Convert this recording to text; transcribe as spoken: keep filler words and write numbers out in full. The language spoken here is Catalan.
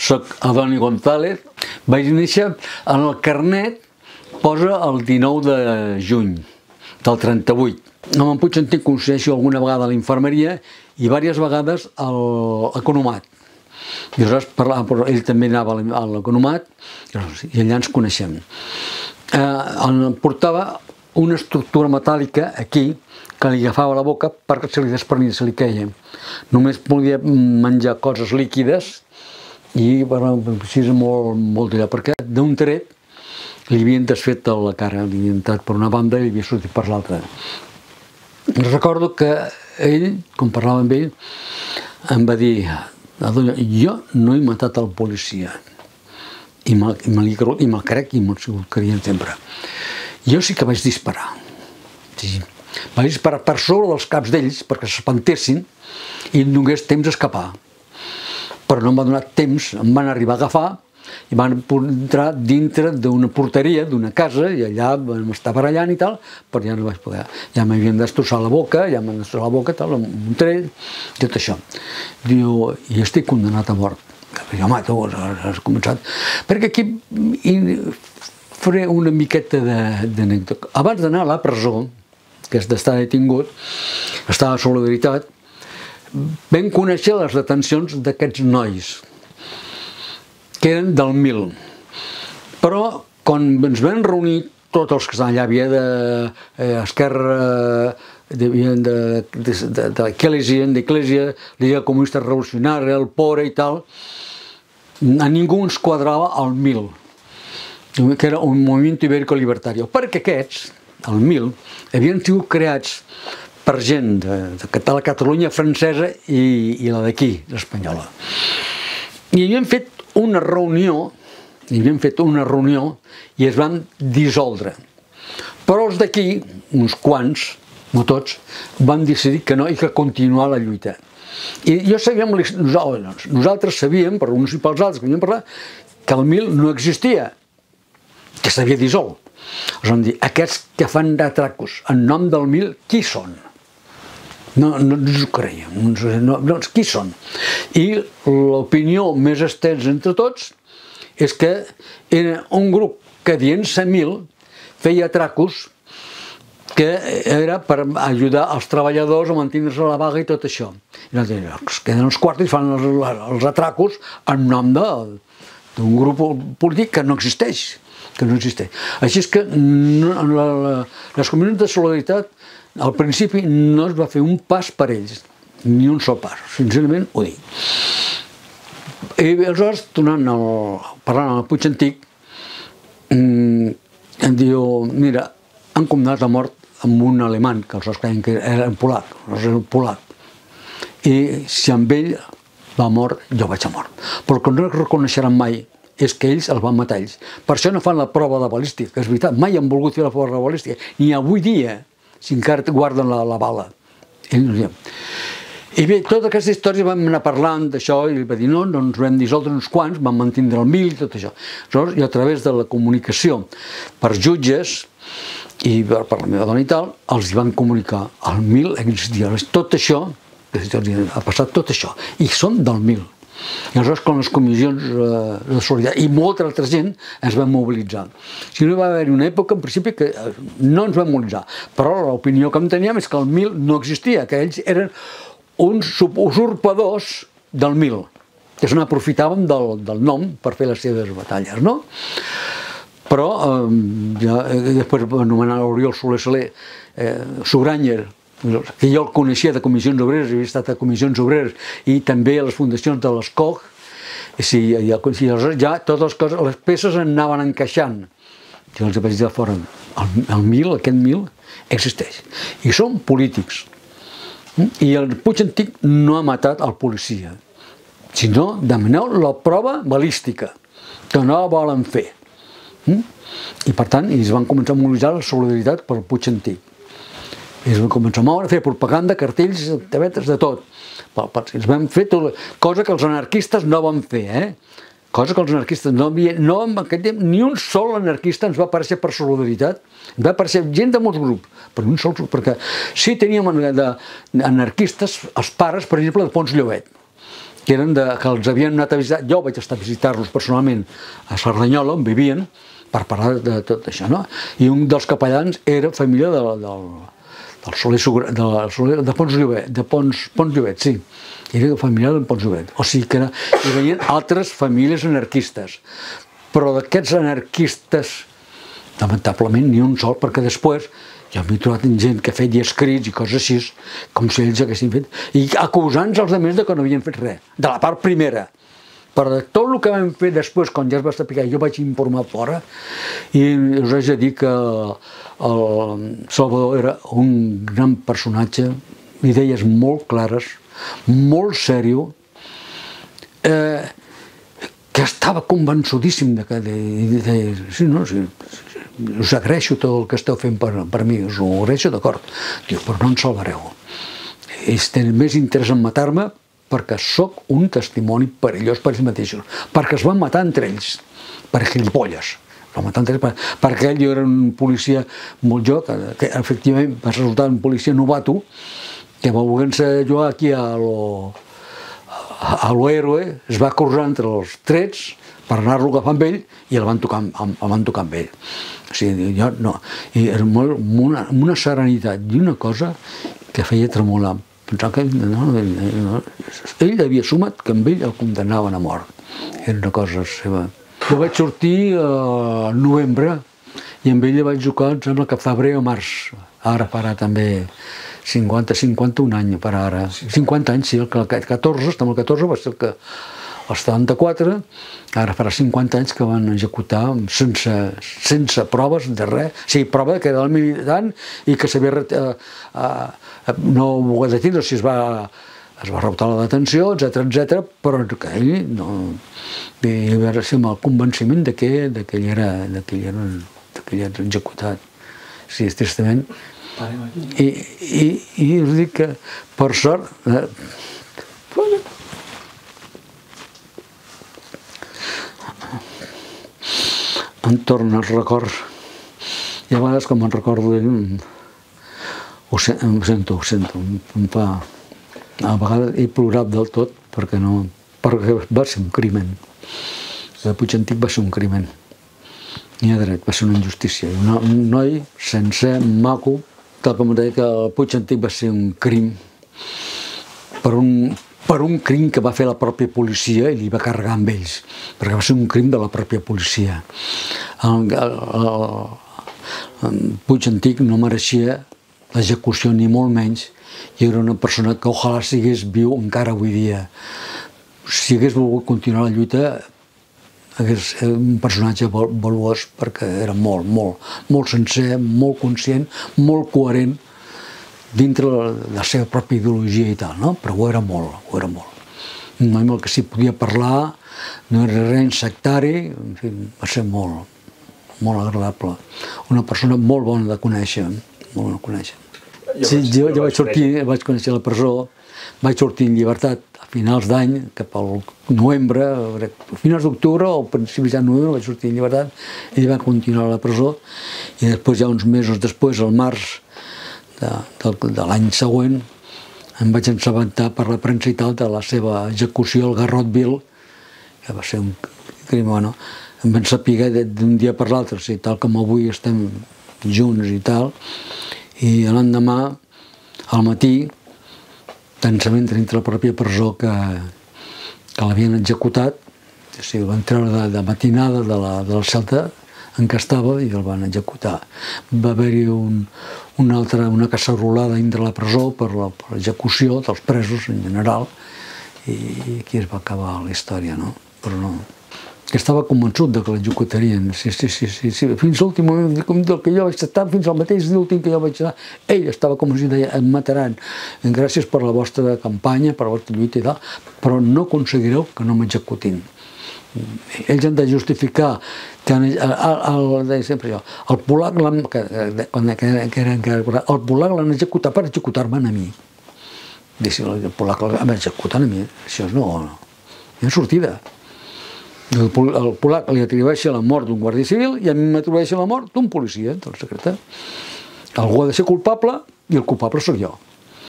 soc Adoni González, vaig néixer en el carnet, posa el dinou de juny del trenta-vuit. Amb en Puigcentí coincideixo alguna vegada a la infermeria i diverses vegades a l'economat. I aleshores parlava, ell també anava a l'economat i allà ens coneixem. Portava una estructura metàl·lica aquí que li agafava la boca perquè se li desprenia, se li queia. Només podia menjar coses líquides i així és molt allà, perquè d'un tret li havien desfet la cara, li havien entrat per una banda i li havia sortit per l'altra. Recordo que ell, quan parlava amb ell, em va dir: jo no he matat el policia, i me'l crec i me'l creien sempre. Jo sí que vaig disparar. Vaig disparar per sobre dels caps d'ells perquè s'espantessin i em donés temps a escapar. Però no em va donar temps, em van arribar a agafar i van entrar dintre d'una porteria d'una casa i allà m'estava barallant i tal, però ja no vaig poder. Ja m'havien destrossat la boca, ja m'han destrossat la boca, tal, amb un tret, tot això. Diu, i estic condenat a mort. Jo, home, tu has començat. Perquè aquí faré una miqueta d'anècdota. Abans d'anar a la presó, que és d'estar detingut, estar a Solidaritat, vam conèixer les detencions d'aquests nois, que eren del mil. Però, quan ens vam reunir tots els que estaven allà, havia d'Esquerra, d'Eclésia, Lliga Comunista Revolucionària, el P O R E i tal, a ningú ens quadrava el mil, que era un moviment ibèrico-libertari, perquè aquests, el mil, havien sigut creats per gent de la Catalunya francesa i la d'aquí, l'espanyola. I havien fet una reunió, i havien fet una reunió i es van dissoldre. Però els d'aquí, uns quants, no tots, van decidir que no i que continuar la lluita. I jo sabíem, nosaltres sabíem, per uns i pels altres que havíem parlat, que el mil no existia, que s'havia dissolt. Ens van dir, aquests que fan d'atracos en nom del mil, qui són? No ens ho creiem, qui són? I l'opinió més estesa entre tots és que era un grup que dient-se mil feia atracos que era per ajudar els treballadors a mantenir-se a la vaga i tot això. I es queden els quartos i fan els atracos en nom d'un grup polític que no existeix. Així és que les comunitats de Solidaritat al principi no es va fer un pas per ells, ni un sol pas, sincerament ho dic. I aleshores, tornant a parlar amb el Puigcentí, em diu, mira, han condemnat a mort amb un alemany, que els creien que era polac, era polac. I si amb ell va mort, jo vaig a mort. Però el que no reconeixeran mai és que ells el van matar ells. Per això no fan la prova de balística, que és veritat, mai han volgut fer la prova de balística, ni avui dia, si encara guarden la bala. I bé, totes aquestes històries vam anar parlant d'això i va dir, no, ens vam dissoldre uns quants, vam mantindre el mil i tot això. I a través de la comunicació per jutges i per la meva dona i tal, els van comunicar, el mil existia. Tot això, ha passat tot això, i són del mil. I aleshores, quan les comissions de solidaritat i molta altra gent ens vam mobilitzar. Si no, va haver una època, en principi, que no ens vam mobilitzar. Però l'opinió que en teníem és que el mil no existia, que ells eren uns usurpadors del mil, que se n'aprofitaven del nom per fer les seves batalles, no? Però, després va anomenar l'Oriol Soler Soler, Suranyer, que jo el coneixia de comissions obreres, havia estat a comissions obreres i també a les fundacions de l'Escoc, i ja totes les coses, les peces anaven encaixant. Jo els vaig dir fora, el mil, aquest mil, existeix. I són polítics. I el Puigcentí no ha matat el policia, sinó demaneu la prova balística, que no la volen fer. I per tant, es van començar a mobilitzar la solidaritat pel Puigcentí. I es van començar a moure, a fer propaganda, cartells, tabetes, de tot. Es van fer cosa que els anarquistes no van fer, eh? Cosa que els anarquistes no havia... No, en aquest temps, ni un sol anarquista ens va aparèixer per solidaritat. Ens va aparèixer gent de molts grups, però un sol grup, perquè sí teníem anarquistes, els pares, per exemple, de Pons Llobet. que eren de, que els havien anat a visitar, jo vaig estar a visitar-los personalment a Cerdanyola, on vivien, per parlar de tot això, no? I un dels capellans era família de, del, del Soler, de, Soler, de Pons Llobet, de Pons, Pons Llobet, sí, era familiar de Pons Llobet, o sigui que era, hi venien altres famílies anarquistes, però d'aquests anarquistes, lamentablement, ni un sol, perquè després jo m'he trobat gent que feia escrits i coses així, com si ells haguessin fet, i acusant-los els altres de que no havien fet res, de la part primera. Però de tot el que vam fer després, quan ja es va saber, jo vaig informar fora, i us haig de dir que el Salvador era un gran personatge, idees molt clares, molt sèrio, eh, que estava convençudíssim de que... De, de, sí, no, sí, us agraeixo tot el que esteu fent per, per mi, us ho agraeixo, d'acord. Diu, però no en salvareu. Ells tenen més interès en matar-me perquè sóc un testimoni perillós per ells mateixos, perquè es van matar entre ells, per gilipolles. Es van matar entre ells, perquè ell era un policia molt jo, que, que efectivament va resultar un policia novato, que va voler-se jugar aquí a lo, a lo héroe, es va cruzar entre els trets per anar-lo agafar amb ell i el van tocar, el van tocar amb ell. O sigui, jo no. I era molt, amb, una, amb una serenitat i una cosa que feia tremolar. Pensava que no, no, ell havia assumat que amb ell el condemnaven a mort. Era una cosa seva. Jo vaig sortir al novembre i amb ell vaig jugar, em sembla que febrer o març. Ara farà també cinquanta, cinquanta-un anys per ara. cinquanta anys, sí, el catorze, estem al catorze, va ser el que el setanta-quatre, ara farà cinquanta anys que van executar sense, sense proves de res, o sigui, prova que era el militant i que s'havia eh, eh, no ho volia detenir, o sigui, es va, es va rebotar la detenció, etcètera, etcètera, però que ell no... I va ser amb el convenciment de que, de que ell era, de que ell era, de que ell era executat. O sigui, tristament. I, i, i us dic que, per sort, eh, em torna els records, i a vegades com em recordo d'ell ho sento, ho sento, em fa... A vegades he plorat del tot perquè no... perquè va ser un crimen. El Puig Antic va ser un crimen. N'hi ha dret, va ser una injustícia. Un noi sencer, maco, tal com deia que el Puig Antic va ser un crim per un... per un crim que va fer la pròpia policia i li va carregar amb ells, perquè va ser un crim de la pròpia policia. El, el, el, el Puig Antic no mereixia l'execució ni molt menys, i era una persona que ojalà sigués viu encara avui dia. Si hagués volgut continuar la lluita, hagués un personatge valuós perquè era molt, molt, molt sencer, molt conscient, molt coherent, dintre la seva pròpia ideologia i tal, no? Però ho era molt, ho era molt. Un noi amb el que s'hi podia parlar, no era res sectari, en fi, va ser molt, molt agradable. Una persona molt bona de conèixer, molt bona de conèixer. Sí, jo, jo vaig sortir, vaig conèixer la presó, vaig sortir en llibertat a finals d'any, cap al novembre, a finals d'octubre o principis de novembre vaig sortir en llibertat i va continuar a la presó, i després ja uns mesos després, al març de, de, de l'any següent, em vaig assabentar per la premsa i tal de la seva execució al Garrotville, que va ser un crim, bueno, em van saber d'un dia per l'altre, o sigui, tal com avui estem junts i tal, i l'endemà, al matí, tensament dintre la pròpia presó que, que l'havien executat, o sigui, el van treure de, de matinada de la, de la celda en què estava i el van executar. Va haver-hi un, una altra, una cacerolada dintre la presó per l'execució dels presos en general, i aquí es va acabar la història, no? Però no... que estava convençut de que l'executarien, sí, sí, sí, sí, sí. Fins a l'últim moment del que jo vaig estar, fins al mateix últim que jo vaig estar, ell estava convençut de em mataran, gràcies per la vostra campanya, per la vostra lluita i tal, però no aconseguireu que no m'executin. Ells han de justificar que el, el, el, sempre jo, el polac l'han el polac l'han executat per executar-me a mi. El polac l'han executat a mi, això no, no hi ha sortida. El polac li atribueix la mort d'un guàrdia civil i a mi m'atribueix la mort d'un policia, del secretari. Algú ha de ser culpable i el culpable sóc jo.